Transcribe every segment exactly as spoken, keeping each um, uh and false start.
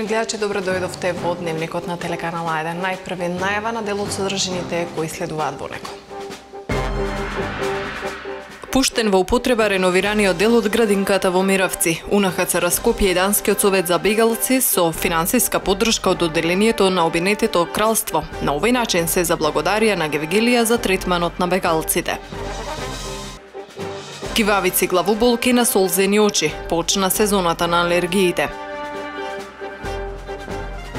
Почитувани гледачи, добро дојдовте во Дневникот на телеканал А еден. Најпрви најава на дел од содржините кои следуваат во него. Пуштен во употреба реновираниот дел од градинката во Миравци. УНХЦР Скопје и Данскиот совет за бегалци со финансиска поддршка од одделението на Обединетото кралство. На овој начин се заблагодарија на Гевгелија за третманот на бегалците. Кивавици, главоболки на солзени очи. Почна сезоната на алергиите.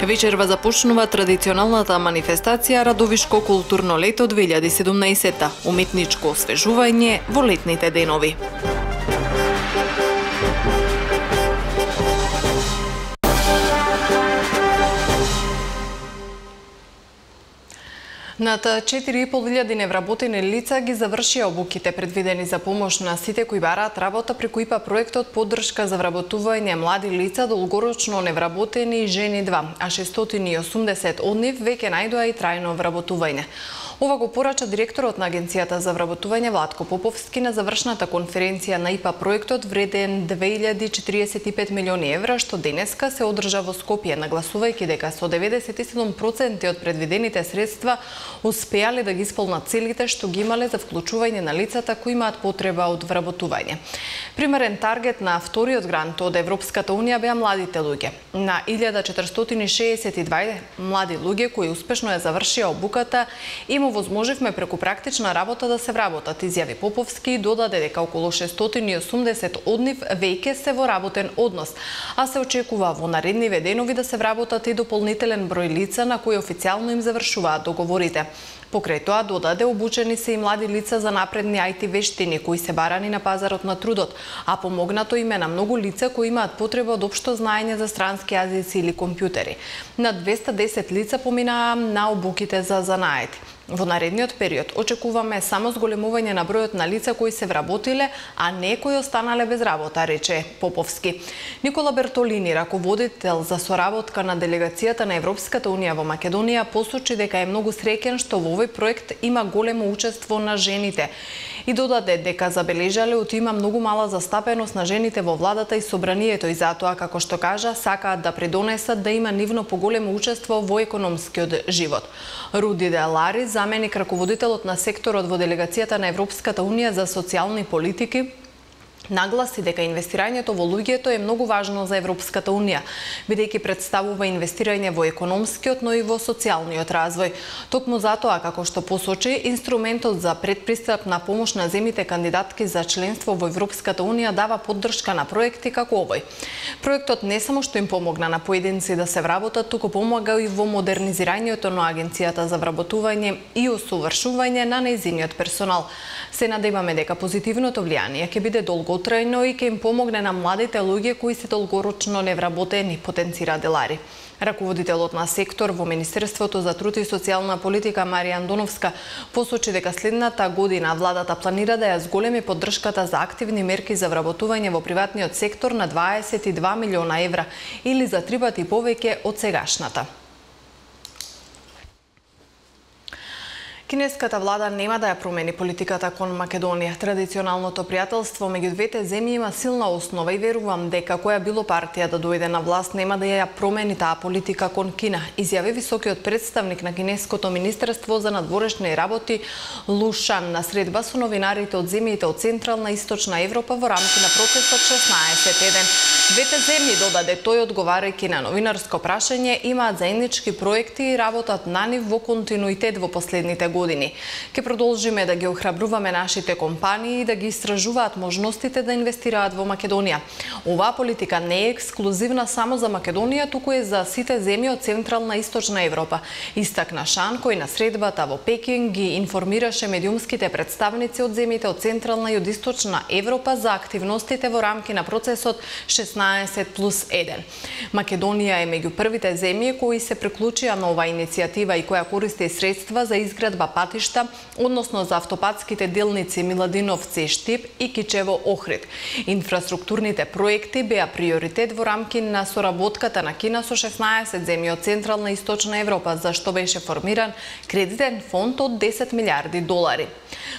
Вечерва започнува традиционалната манифестација Радовишко културно лето две илјади и седумнаесетта, уметничко освежување во летните денови. Над четири и пол илјади невработени лица ги завршија обуките предвидени за помош на сите кои бараат работа преку ИПА проектот поддршка за вработување млади лица долгорочно невработени и жени два, а шестстотини и осумдесет од нив веќе најдоа и трајно вработување. Ова го порача директорот на Агенцијата за вработување Владко Поповски на завршната конференција на ИПА проектот вреден две илјади четиридесет и пет милиони евра, што денеска се одржа во Скопје, нагласувајќи дека со деветдесет и седум проценти од предвидените средства успеале да ги исполнат целите што ги имале за вклучување на лицата кои имаат потреба од вработување. Примерен таргет на вториот грант од Европската унија беа младите луѓе. На илјада четиристотини шеесет и два млади луѓе кои успешно ја завршија обуката и му возможивме преку практична работа да се вработат, изјави Поповски и додаде дека околу шестстотини и осумдесет од нив веќе се во работен однос, а се очекува во наредниве денови да се вработат и дополнителен број лица на кои официјално им завршуваат договорите. Покрај тоа додаде обучени се и млади лица за напредни ај ти вештини кои се барани на пазарот на трудот, а помогнато им е на многу лица кои имаат потреба од општо знаење за странски јазици или компјутери. На двеста десет лица поминаа на обуките за занаети. Во наредниот период очекуваме само зголемување на бројот на лица кои се вработиле, а не кои останале без работа, рече Поповски. Никола Бертолини, раководител за соработка на делегацијата на Европската унија во Македонија, посочи дека е многу среќен што во овој проект има големо учество на жените и додаде дека забележале од има многу мала застапеност на жените во владата и собранието и затоа, како што кажа, сакаат да придонесат да има нивно поголемо учество во економскиот живот. Руди Делари, заменик раководителот на секторот во делегацијата на Европската унија за социјални политики, нагласи дека инвестирањето во луѓето е многу важно за Европската унија, бидејќи представува инвестирање во економскиот, но и во социјалниот развој. Токму затоа, како што посочи, инструментот за предпристапна помош на земјите кандидатки за членство во Европската унија дава поддршка на проекти како овој. Проектот не само што им помогна на поединци да се вработат, туку помага и во модернизирањето на Агенцијата за вработување и усовршување на нејзиниот персонал. Се надеваме дека позитивното влијание ќе биде долготрајно и ќе им помогне на младите луѓе кои се долгорочно невработени, потенцира Делари. Раководителот на сектор во Министерството за труд и социјална политика Марија Андоновска посочи дека следната година владата планира да ја зголеми поддршката за активни мерки за вработување во приватниот сектор на дваесет и два милиона евра или за три пати повеќе од сегашната. Кинеската влада нема да ја промени политиката кон Македонија. Традиционалното пријателство меѓу двете земји има силна основа и верувам дека која било партија да дојде на власт нема да ја промени таа политика кон Кина, изјави високиот представник на Кинеското министерство за надворешни работи Лу Шан на средба со новинарите од земјите од Централна и Источна Европа во рамки на процесот шеснаесет еден. Двете земји, додаде тој одговарајќи на новинарско прашање, имаат заеднички проекти и работат на нив во континуитет во последните години. Ке продолжиме да ги охрабруваме нашите компании и да ги истражуваат можностите да инвестираат во Македонија. Оваа политика не е ексклузивна само за Македонија, туку е за сите земји од Централна и Источна Европа. Истакна Шан, кој на средбата во Пекинг ги информираше медиумските представници од земјите од Централна и од Источна Европа за активностите во рамки на процесот шеснаесет плюс еден. Македонија е меѓу првите земји кои се приклучија на оваа иницијатива и која користи средства за изградба два патишта, односно за автопатските делници Миладиновци Штип и Кичево Охрид. Инфраструктурните проекти беа приоритет во рамки на соработката на Кина со шеснаесет земји од Централна и Источна Европа, за што беше формиран кредитен фонд од десет милиарди долари.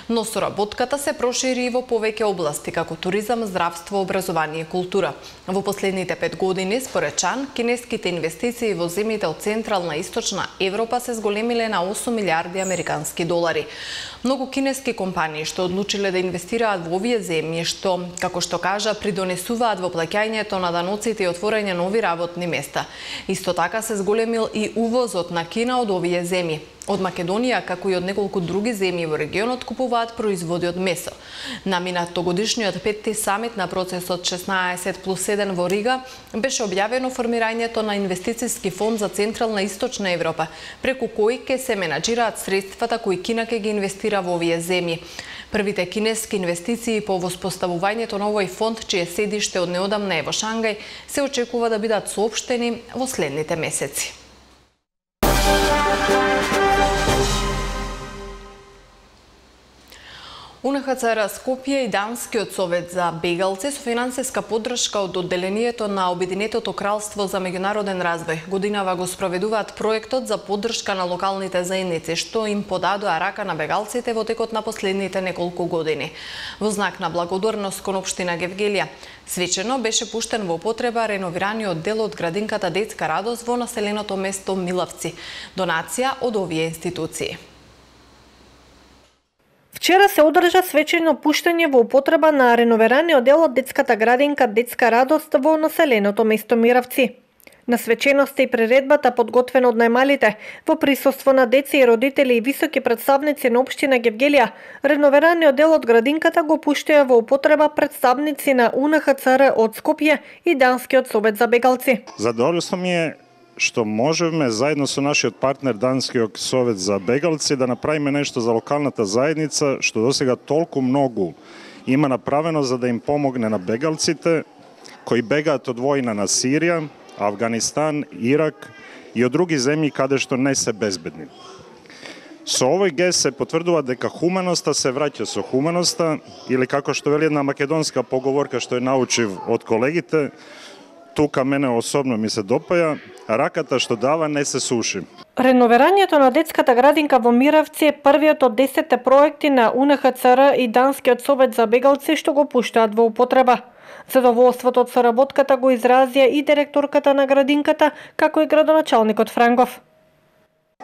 Но соработката се прошири и во повеќе области, како туризам, здравство, образование и култура. Во последните пет години, според Чан, кинеските инвестиции во земјите од Централна и Источна Европа се зголемиле на осум милиарди американски долари. Многу кинески компании што одлучиле да инвестираат во овие земји, што, како што кажа, придонесуваат во плаќањето на даноците и отворање нови работни места. Исто така се зголемил и увозот на Кина од овие земји. Од Македонија, како и од неколку други земји во регионот, купуваат производи од месо. На минатогодишниот петти самит на процесот шеснаесет плюс еден во Рига беше објавено формирањето на инвестициски фонд за Централна и Источна Европа, преку кој ќе се менаџираат средствата кои Кина ќе ги инвестира во овие земји. Првите кинески инвестиции по воспоставувањето на овој фонд, чие седиште од неодамна е во Шангај, се очекува да бидат соопштени во следните месеци. У Ен Ха Це Ер Скопје и Данскиот совет за бегалци со финансиска поддршка од одделението на Обединетото кралство за меѓународен развој годинава го спроведуваат проектот за поддршка на локалните заедници, што им подадоа рака на бегалците во текот на последните неколку години. Во знак на благодарност кон општина Гевгелија, свечено беше пуштен во употреба реновираниот дел од градинката Детска радост во населеното место Милавци, донација од овие институции. Вчера се одржа свечено пуштање во употреба на реновираниот дел од детската градинка Детска радост во населеното место Миравци. На свеченоста и приредбата, подготвена од најмалите, во присуство на деца и родители и високи представници на општина Гевгелија, реновираниот дел од градинката го пуштија во употреба представници на У Ен Ха Це Ер од Скопје и Данскиот совет за бегалци. Задоволство ми е што можеме заедно со нашиот партнер Данскиот совет за бегалци да направиме нешто за локалната заедница, што досега толку многу има направено за да им помогне на бегалците кои бегаат од војна на Сирија, Авганистан, Ирак и од други земји каде што не се безбедни. Со овој гест се потврдува дека хуманоста се враќа со хуманоста, или како што вели една македонска поговорка што ја научив од колегите, тука мене особено ми се допаја, раката што дава не се суши. Реновирањето на детската градинка во Миравци е првиот од десетте проекти на У Ен Ха Це Ер и Данскиот совет за бегалци што го пуштаат во употреба. Задоволството од соработката го изразија и директорката на градинката, како и градоначалникот Франгов.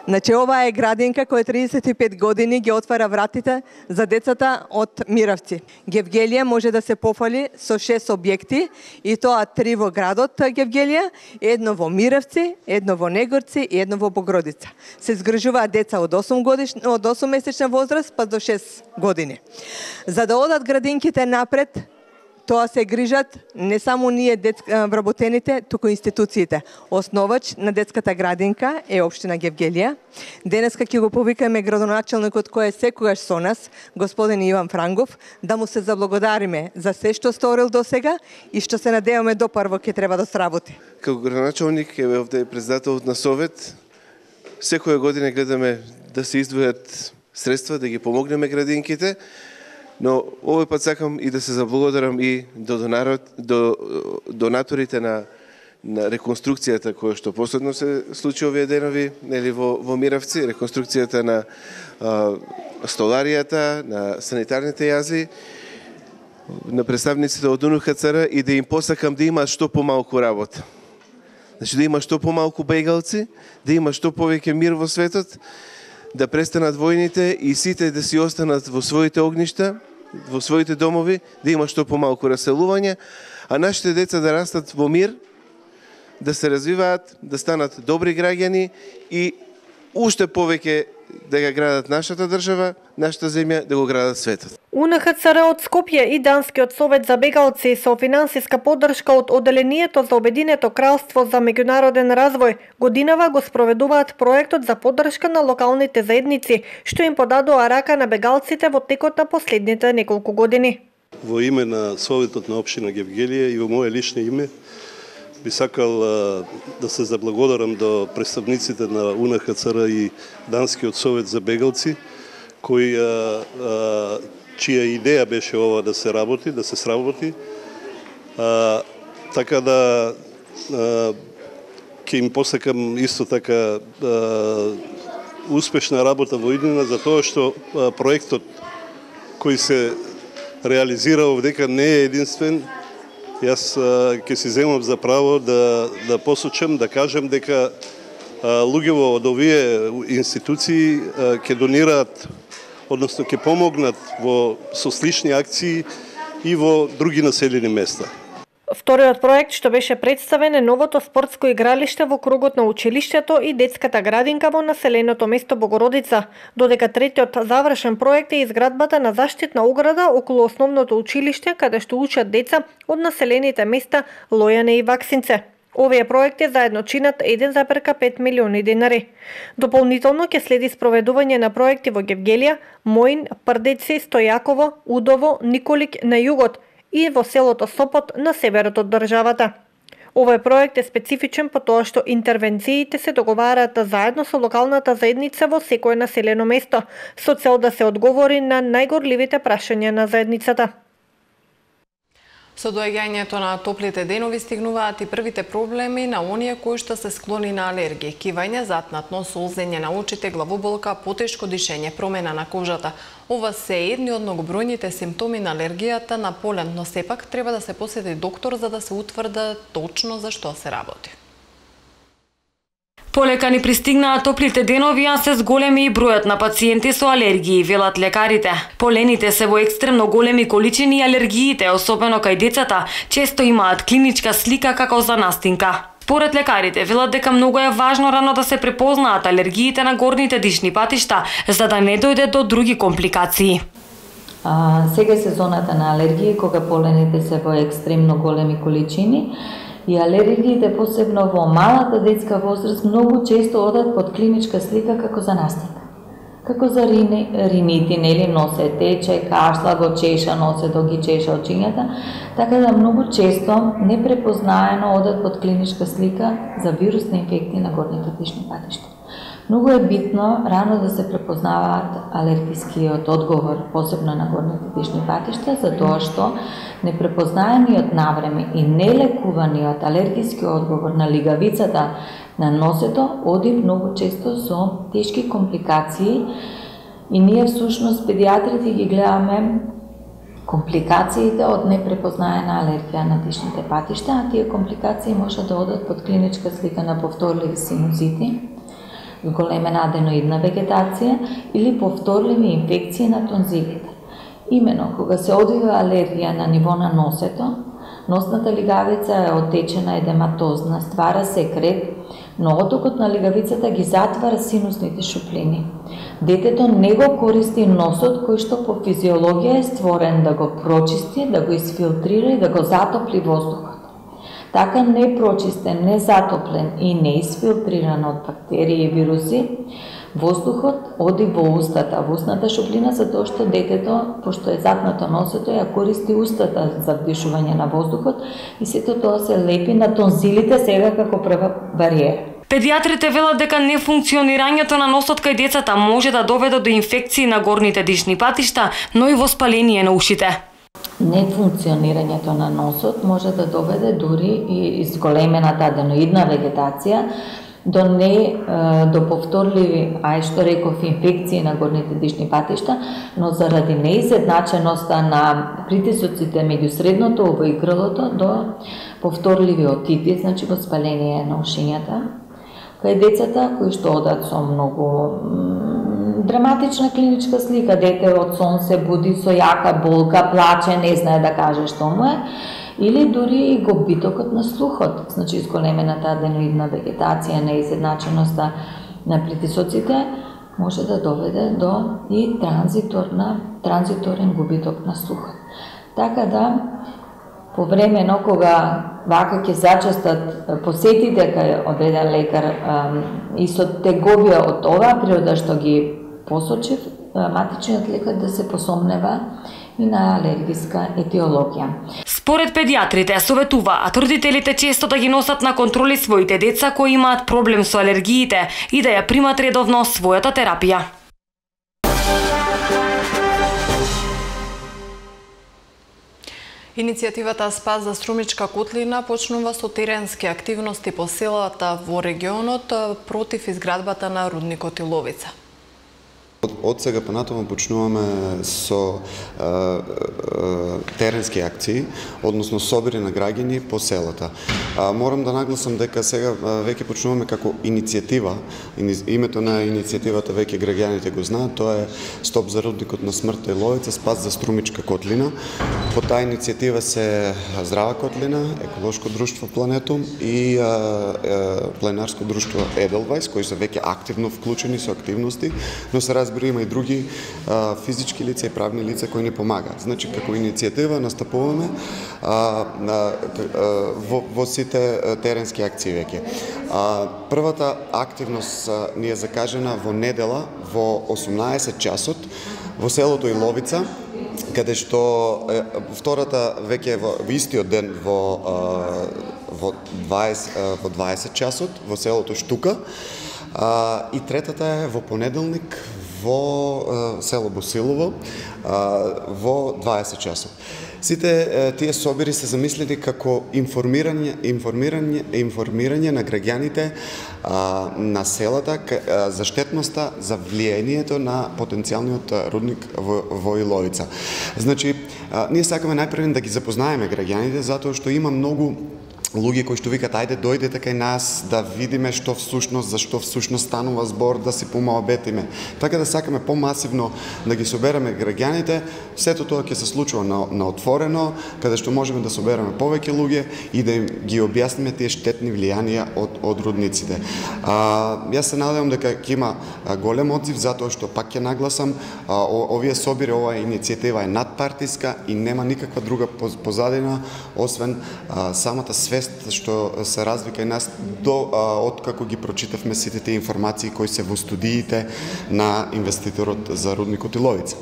Значи, ова е градинка која триесет и пет години ги отвара вратите за децата од Миравци. Гевгелија може да се пофали со шест објекти, и тоа три во градот Гевгелија, едно во Миравци, едно во Негорци и едно во Богродица. Се згрижуваат деца од осум годишна, од осум месечна возраст па до шест години. За да одат градинките напред, тоа се грижат не само ние вработените, туку институциите. Основач на детската градинка е општина Гевгелија. Денеска ќе го повикаме градоначалникот кој е секогаш со нас, господин Иван Франгов, да му се заблагодариме за се што сторил до сега и што се надеваме до прво ќе треба да сработи. Како градоначалник е овде председател на совет, секоја година гледаме да се издвојат средства да ги помогнеме градинките. Но овој пат сакам и да се заблагодарам и до, донарот, до донаторите на, на реконструкцијата која што последно се случи овие денови, нели, во, во Миравци, реконструкцијата на а, столаријата, на санитарните јази, на представниците од У Ен Ха Це Ер, и да им посакам да има што помалку работа. Значи да има што помалку бегалци, да има што повеќе мир во светот, да престанат војните и сите да си останат во своите огништа, во своите домови, да има што помалку раселување, а нашите деца да растат во мир, да се развиваат, да станат добри граѓани и уште повеќе да го градат нашата држава, нашата земја, да го градат светот. У Ен Ха Це Ер од Скопје и Данскиот совет за бегалци со финансиска поддршка од одделението за Обединето кралство за меѓународен развој годинава го спроведуваат проектот за поддршка на локалните заедници, што им подадоа рака на бегалците во текот на последните неколку години. Во име на Советот на општина Гевгелија и во моје лично име би сакал а, да се заблагодарам до представниците на У Ен Ха Це Ер и Данскиот совет за бегалци кој а, а, чија идеја беше ова да се работи, да се сработи. А, така да а, ќе им посакам исто така а, успешна работа во иднина, за тоа што а, проектот кој се реализира овдека не е единствен. Јас а, ќе си земам за право да, да посочам, да кажам дека а, луѓево од овие институции а, ќе донираат, односно ќе помогнат во со слични акции и во други населени места. Вториот проект што беше представен е новото спортско игралиште во кругот на училиштето и детската градинка во населеното место Богородица, додека третиот завршен проект е изградбата на заштитна ограда околу основното училиште каде што учат деца од населените места Лојане и Ваксинце. Овие проекти заедно чинат еден зарез пет милиони денари. Дополнително ќе следи спроведување на проекти во Гевгелија, Моин, Прдеци, Стојаково, Удово, Николик на југот и во селото Сопот на северот од државата. Овој проект е специфичен по тоа што интервенциите се договараат заедно со локалната заедница во секое населено место, со цел да се одговори на најгорливите прашања на заедницата. Со доаѓањето на топлите денови стигнуваат и првите проблеми на оние кои што се склони на алергија, кивање, затнатно, солзење на очите, главоболка, потешко дишење, промена на кожата. Ова се едни од многобројните симптоми на алергијата на полен, но сепак треба да се посети доктор за да се утврди точно за што се работи. Полека ни пристигнаа топлите денови, а се зголеми и бројот на пациенти со алергии, велат лекарите. Полените се во екстремно големи количини и алергиите, особено кај децата, често имаат клиничка слика како за настинка. Според лекарите, велат дека многу е важно рано да се препознаат алергиите на горните дишни патишта, за да не дојде до други компликации. А, сега сезоната на алергија, кога полените се во екстремно големи количини, и алергиите, посебно во малата детска возраст, многу често одат под клиничка слика како за настинка. Како за рини, ринити, нели, носе тече, кашла, го чеша, носе до ги чеша очињата, така да многу често непрепознаено одат под клиничка слика за вирусни инфекции на горните дишни патишта. Многу е битно рано да се препознаваат алергискиот одговор, посебно на горните дишни патишта, за тоа што непрепознаениот навреме и нелекуваниот алергиски одговор на лигавицата на носето оди многу често со тешки компликации и ние всушност педиатрите ги гледаме компликациите од непрепознаена алергија на дишните патишта, а тие компликации може да одат под клиничка слика на повторливи синузити, зголемена аденоидна вегетација или повторливи инфекции на тонзилите. Имено, кога се одвива алергија на ниво на носето, носната лигавица е отечена, едематозна, ствара секрет, но отокот на лигавицата ги затвара синусните шуплини. Детето не го користи носот кој што по физиологија е створен да го прочисти, да го изфилтрира и да го затопли воздухот. Така непрочистен, незатоплен и неисфилтриран од бактерии и вируси, воздухот оди во устата, во устната шуплина, за тоа што детето, пошто е затнато носето, ја користи устата за вдишување на воздухот и сето тоа се лепи на тонзилите сега како прва бариера. Педиатрите велат дека нефункционирањето на носот кај децата може да доведе до инфекции на горните дишни патишта, но и воспаление на ушите. Нефункционирањето на носот може да доведе дури и изголемената аденоидна вегетација до не до повторливи, ај што реков, инфекции на горните дишни патишта, но заради неизедначеноста на притисоците меѓу средното ово и грлото до повторливи отити, значи воспаление на ушињата, кај децата кои што одат со многу драматична клиничка слика, дете од сон се буди со јака болка, плаче, не знае да каже што му е, или дури и губитокот на слухот, значи изголемената аденоидна вегетација, неизедначеноста на притисоците може да доведе до и транзиторна, транзиторен губиток на слухот. Така да, по времено кога вака ќе зачестат посетите кај одреден лекар и со теговија од оваа природа што ги посочив, матичниот лекар да се посомнева и на алергиска етиологија. Според педиатрите советуваат родителите често да ги носат на контроли своите деца кои имаат проблем со алергиите и да ја примат редовно својата терапија. Иницијативата Спас за Струмичка котлина почнува со теренски активности по селата во регионот против изградбата на рудникот Иловица. Од сега понатаму почнуваме со а, а, теренски акции, односно собири на граѓани по селата. А, морам да нагласам дека сега веќе почнуваме како иницијатива. Името на иницијативата веќе граѓаните го знаат, тоа е Стоп за рудникот на смртта Иловица, Спас за Струмичка котлина. По таа иницијатива се Здрава котлина, Еколошко друштво Планетум и а, а, Пленарско друштво Еделвајс, кои се веќе активно вклучени со активности, но се разбира има и други а, физички лица и правни лица кои ни помагаат. Значи, како иницијатива настапуваме а, а, во, во сите теренски акции веќе. А, првата активност а, ни е закажена во недела во осумнаесет часот во селото Иловица, каде што е, втората веќе во, во истиот ден во, а, во, дваесет, а, во дваесет часот во селото Штука, а, и третата е во понеделник во село Босилово во дваесет часот. Сите тие собири се замислени како информирање, информирање, информирање на граѓаните на селата за штетноста, за влијанието на потенцијалниот рудник во, во Иловица. Значи, ние сакаме најпрво да ги запознаеме граѓаните, затоа што има многу луѓе кои што викат ајде дојдете кај нас да видиме што всушност, за што всушност станува збор, да си помоабетиме. Така да сакаме помасивно да ги собереме граѓаните, сето тоа ќе се случува на, на отворено, каде што можеме да собереме повеќе луѓе и да им ги објасниме тие штетни влијанија од, од рудниците. А, јас се надевам дека ќе има голем одзив, затоа што пак ќе нагласам, а, овие собири, оваа иницијатива е надпартиска и нема никаква друга позадина, освен а, самата свест што се развика и нас до откако ги прочитавме сите тие информации кои се во студиите на инвеститорот за рудникот Иловица.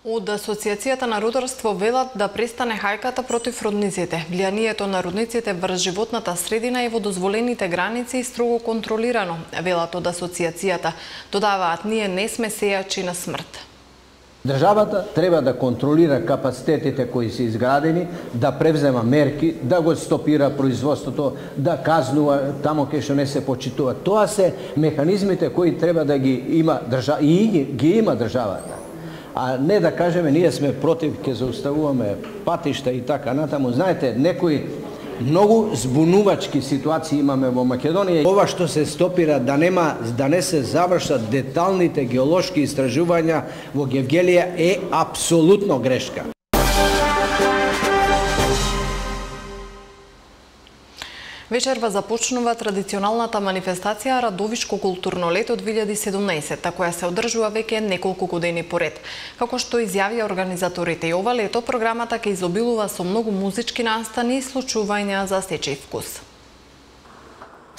Од Асоциацијата на рударство велат да престане хајката против рудниците. Влијанието на рудниците врз животната средина е во дозволените граници и строго контролирано, велат од Асоциацијата. Додаваат, ние не сме сејачи на смрт. Државата треба да контролира капацитетите кои се изградени, да превзема мерки, да го стопира производството, да казнува тамо кај што не се почитува. Тоа се механизмите кои треба да ги има држава и ги има државата. А не да кажеме ние сме против, ќе зауставуваме патишта и така натаму. Знаете, некои многу збунувачки ситуации имаме во Македонија. Ова што се стопира да нема, да не се завршат деталните геолошки истражувања во Гевгелија е апсолутно грешка. Вечерва започнува традиционалната манифестација Радовишко културно лето две илјади и седумнаесетта, која се одржува веќе неколку години поред. Како што изјавија организаторите, и ова лето програмата ќе изобилува со многу музички настани и случувања за сечи вкус.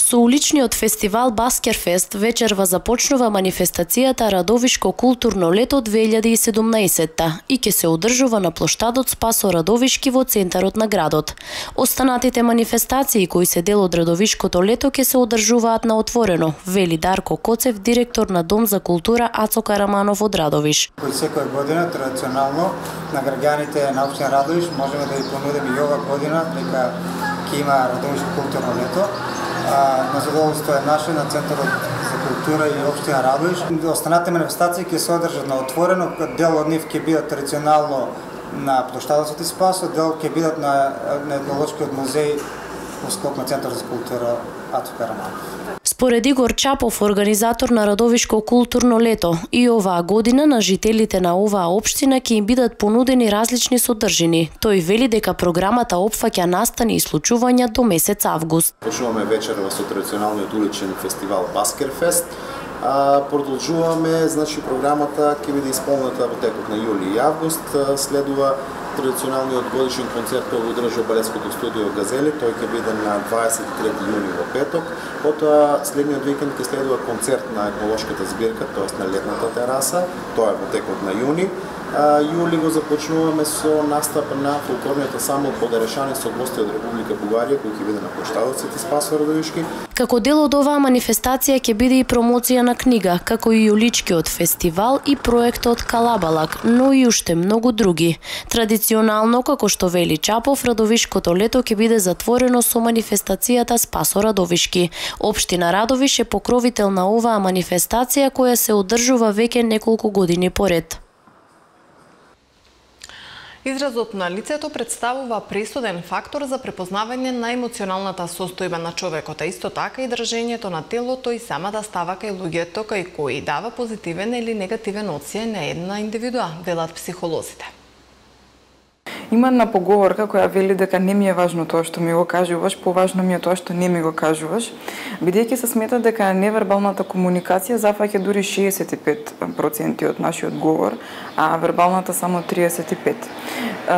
Со уличниот фестивал Баскерфест вечерва започнува манифестацијата Радовишко културно лето две илјади и седумнаесетта и ќе се одржува на плоштадот Спасо Радовишки во центарот на градот. Останатите манифестации кои се дел од Радовишкото лето ќе се одржуваат на отворено, вели Дарко Коцев, директор на Дом за култура Ацо Караманов од Радовиш. Кој секоја година традиционално на граѓаните на општина Радовиш можеме да ги понудиме и ова година дека ќе има Радовишко културно лето. На задоволство е наше на Центарот за култура и општина Радовиш. Останатите манифестации ќе се одржат на отворено, дел од нив ќе бидат традиционално на плоштадот Свети Спасо, дел ќе бидат на, на етнолошкиот музеј во склоп на Центарот за култура Ацо Караманов. Според Игор Чапов, организатор на Радовишко културно лето, и оваа година на жителите на оваа општина ќе им бидат понудени различни содржини. Тој вели дека програмата опфаќа настани и случувања до месец август. Почнуваме вечерва со традиционалниот уличен фестивал Баскерфест. А, продолжуваме, значи програмата ќе биде исполнета во текот на јули и август. Следува традиционалниот годишен концерт кој го одржува балетското студио Газели, тој ќе биде на дваесет и трети јуни во петок. Потоа следниот викенд ќе следува концерт на етнолошката збирка, тоест на летната тераса, тоа е во текот на јуни. јули го започнуваме со настап на фолклорниот ансамбл Подарешани со гости од Република Бугарија кој ќе биде на плоштадот Свети Спасо Радовишки. Како дел од оваа манифестација ќе биде и промоција на книга, како и Јуличкиот фестивал и проектот Калабалак, но и уште многу други. Традиционално, како што вели Чапов, Радовишкото лето ќе биде затворено со манифестацијата Спасо Радовишки. Општина Радовиш е покровител на оваа манифестација која се одржува веќе неколку години поред. Изразот на лицето представува пресуден фактор за препознавање на емоционалната состојба на човекот, а исто така и држењето на телото и самата става кај луѓето кај кои дава позитивен или негативен оцен на една индивидуа, велат психолозите. Има една поговорка која вели дека не ми е важно тоа што ми го кажуваш, поважно ми е тоа што не ми го кажуваш, бидејќи се смета дека невербалната комуникација зафаќа дури шеесет и пет проценти од нашиот говор, а вербалната само триесет и пет.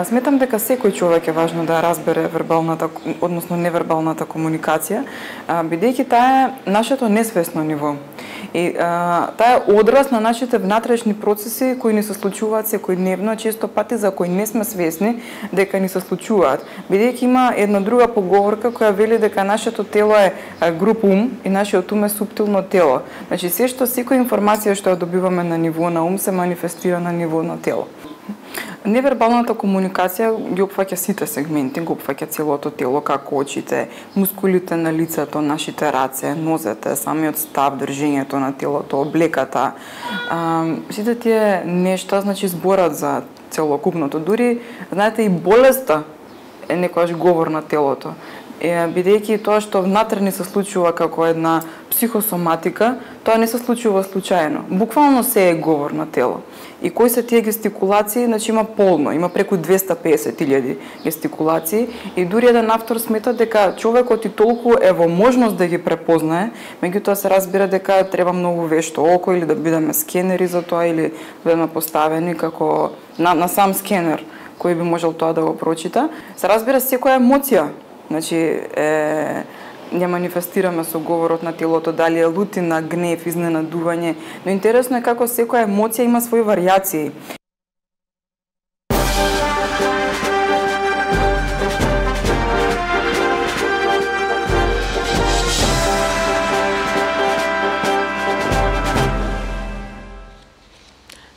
Сметам дека секој човек е важно да разбере вербалната, односно невербалната комуникација, бидејќи таа е нашето несвесно ниво. И а, таа е одраз на нашите внатрешни процеси кои ни се случуваат секојдневно, често пати за кои не сме свесни дека ни се случуваат. Бидејќи има една друга поговорка која вели дека нашето тело е груп ум и нашиот ум е суптилно тело. Значи се што секоја информација што ја добиваме на ниво на ум се манифестира на ниво на тело. Невербалната комуникација ги опфаќа сите сегменти, го опфаќа целото тело, како очите, мускулите на лицето, нашите раце, нозете, самиот став, држењето на телото, облеката. А, сите тие нешта, значи, зборат за целокупното. Дури, знаете, и болеста е некојаш говор на телото. Бидејќи тоа што внатре ни се случува како една психосоматика, тоа не се случува случајно. Буквално се е говор на тело. И кои се тие гестикулации, значи има полно, има преку двесте и песет илјади гестикулации и дури еден автор смета дека човекот и толку е во можност да ги препознае, меѓутоа се разбира дека треба многу вешто око или да бидеме скенери за тоа или да бидеме поставени како на, на сам скенер кој би можел тоа да го прочита. Се разбира секоја емоција, значи е ја манифестираме со говорот на телото, дали е лутина, гнев, изненадување, но интересно е како секоја емоција има своји варијации.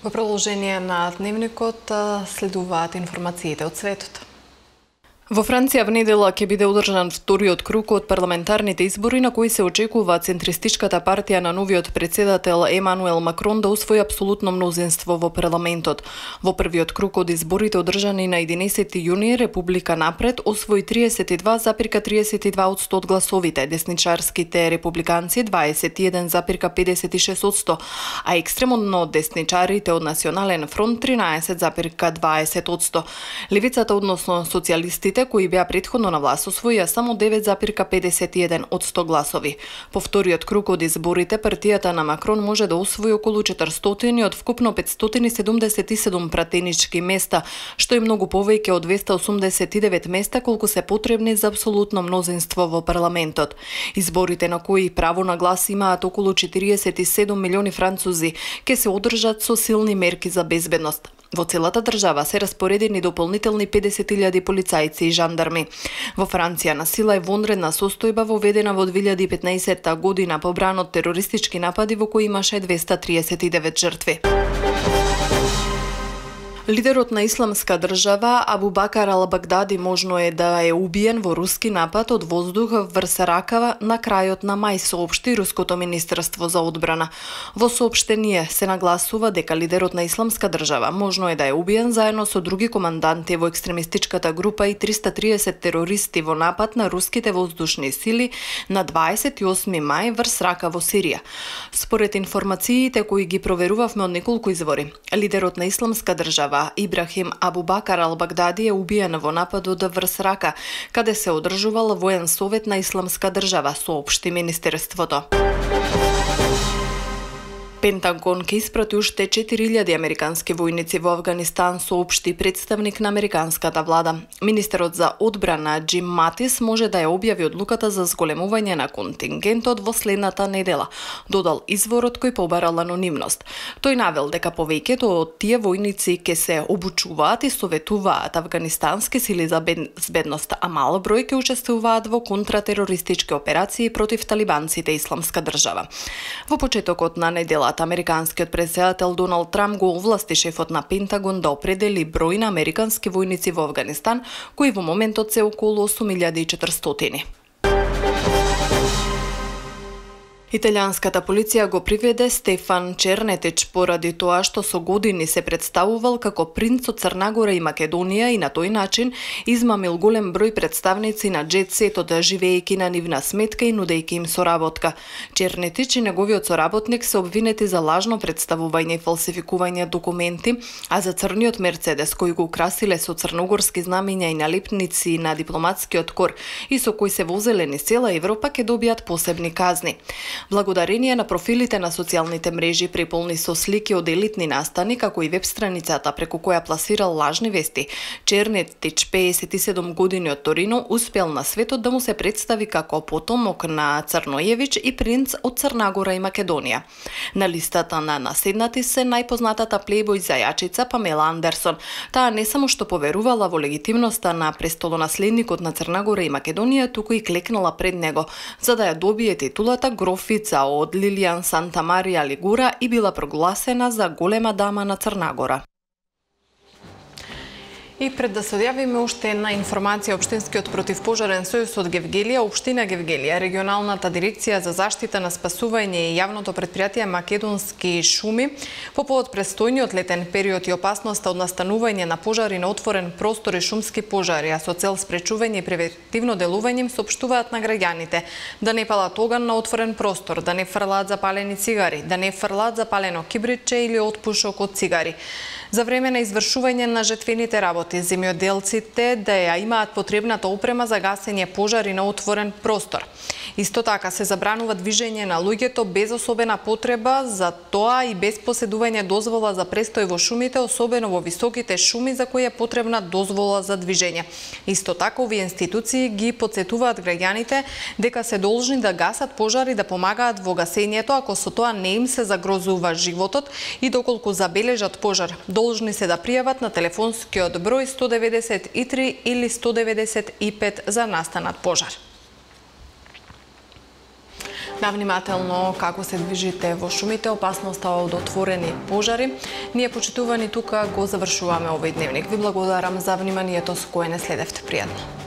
Во продолжение на дневникот следуваат информациите од светот. Во Франција в недела ќе биде одржан вториот круг од парламентарните избори на кои се очекува центристичката партија на новиот председател Емануел Макрон да усвои апсолутно мнозинство во парламентот. Во првиот круг од изборите одржани на единаесети јуни, Република Напред освои триесет и два зарез триесет и два одсто од гласовите, десничарските републиканци дваесет и еден зарез педесет и шест одсто, а екстремно десничарите од Национален фронт тринаесет зарез дваесет одсто. Левицата, односно социјалистите, кои беа претходно на власт, освоија само девет зарез педесет и еден одсто гласови. По вториот круг од изборите, партијата на Макрон може да освои околу четиристотини од вкупно петстотини седумдесет и седум пратенички места, што е многу повеќе од двесте осумдесет и девет места колку се потребни за апсолутно мнозинство во парламентот. Изборите на кои право на глас имаат околу четириесет и седум милиони французи ќе се одржат со силни мерки за безбедност. Во целата држава се распоредени дополнителни педесет илјади полицајци и жандарми. Во Франција насила е вонредна состојба воведена во две илјади и петнаесетта година побран од терористички напади во кои имаше двесте триесет и девет жртви. Лидерот на Исламска држава Абу Бакар ал-Багдади можно е да е убиен во руски напад од воздух врз Ракава на крајот на мај, соопшти Руското министерство за одбрана. Во соопштение се нагласува дека лидерот на Исламска држава можно е да е убиен заедно со други команданти во екстремистичката група и триста и триесет терористи во напад на руските воздушни сили на дваесет и осми мај врз Рака во Сирија. Според информациите кои ги проверувавме од неколку извори, лидерот на Исламска држава Ибрахим Абу Бакар ал-Багдади е убиен во нападот врз Рака, каде се одржувал воен совет на Исламска држава, соопшти министерството. Пентагон ќе испрати уште четири илјади американски војници во Авганистан, соопшти представник на американската влада. Министерот за одбрана Џим Матис може да ја објави одлуката за зголемување на контингентот во следната недела, додал изворот кој побарал анонимност. Тој навел дека повеќето од тие војници ќе се обучуваат и советуваат афганистански сили за безбедност, а мал број ќе учествуваат во контратерористички операции против талибанците и Исламска држава. Во почетокот на недела американскиот претседател Доналд Трамп го овласти шефот на Пентагон да определи број на американски војници во Авганистан, кои во моментот се околу осум илјади и четиристотини. Италијанската полиција го приведе Стефан Чернетич поради тоа што со години се представувал како принц од Црнагора и Македонија и на тој начин измамил голем број представници на џет сетот, живеејќи на нивна сметка и нудејќи им соработка. Чернетич и неговиот соработник се обвинети за лажно представување и фалсификување документи, а за црниот Мерцедес кој го украсиле со црногорски знамиња и налепници на дипломатскиот кор и со кој се возеле низ цела Европа ќе добијат посебни казни. Благодарение на профилите на социјалните мрежи преполни со слики од елитни настани, како и веб страницата преку која пласирал лажни вести, Чернетич, пеесет и седум години од Торино, успел на светот да му се представи како потомок на Црноевич и принц од Црнагора и Македонија. На листата на наседнати се најпознатата плейбој зајачица Памела Андерсон. Таа не само што поверувала во легитимноста на престолонаследникот на Црнагора и Македонија, туку и клекнала пред него, за да ја добие титулата гроф од Лилијан Санта Марија Лигура и била прогласена за голема дама на Црнагора. И пред да се одјавиме уште една информација, Општинскиот противпожарен сојуз од Гевгелија, Општина Гевгелија, регионалната дирекција за заштита на спасување и јавното претпријатие Македонски шуми по повод престојниот летен период и опасноста од настанување на пожари на отворен простор и шумски пожари, а со цел спречување и превентивно делување им соопштуваат на граѓаните да не палат оган на отворен простор, да не фрлаат запалени цигари, да не фрлаат запалено кибритче или отпушок од цигари. За време на извршување на жетвените работи, земјоделците да ја имаат потребната опрема за гасење пожари на отворен простор. Исто така се забранува движење на луѓето без особена потреба, за тоа и без поседување дозвола за престој во шумите, особено во високите шуми за кои е потребна дозвола за движење. Исто така овие институции ги потсетуваат граѓаните дека се должни да гасат пожари, да помагаат во гасењето ако со тоа не им се загрозува животот и доколку забележат пожар, должни се да пријават на телефонскиот број сто деветдесет и три или сто деветдесет и пет за настанат пожар. Навнимателно како се движите во шумите, опасноста од отворени пожари. Ние, почитувани, тука го завршуваме овој дневник. Ви благодарам за вниманието со кое не следевте. Пријатно.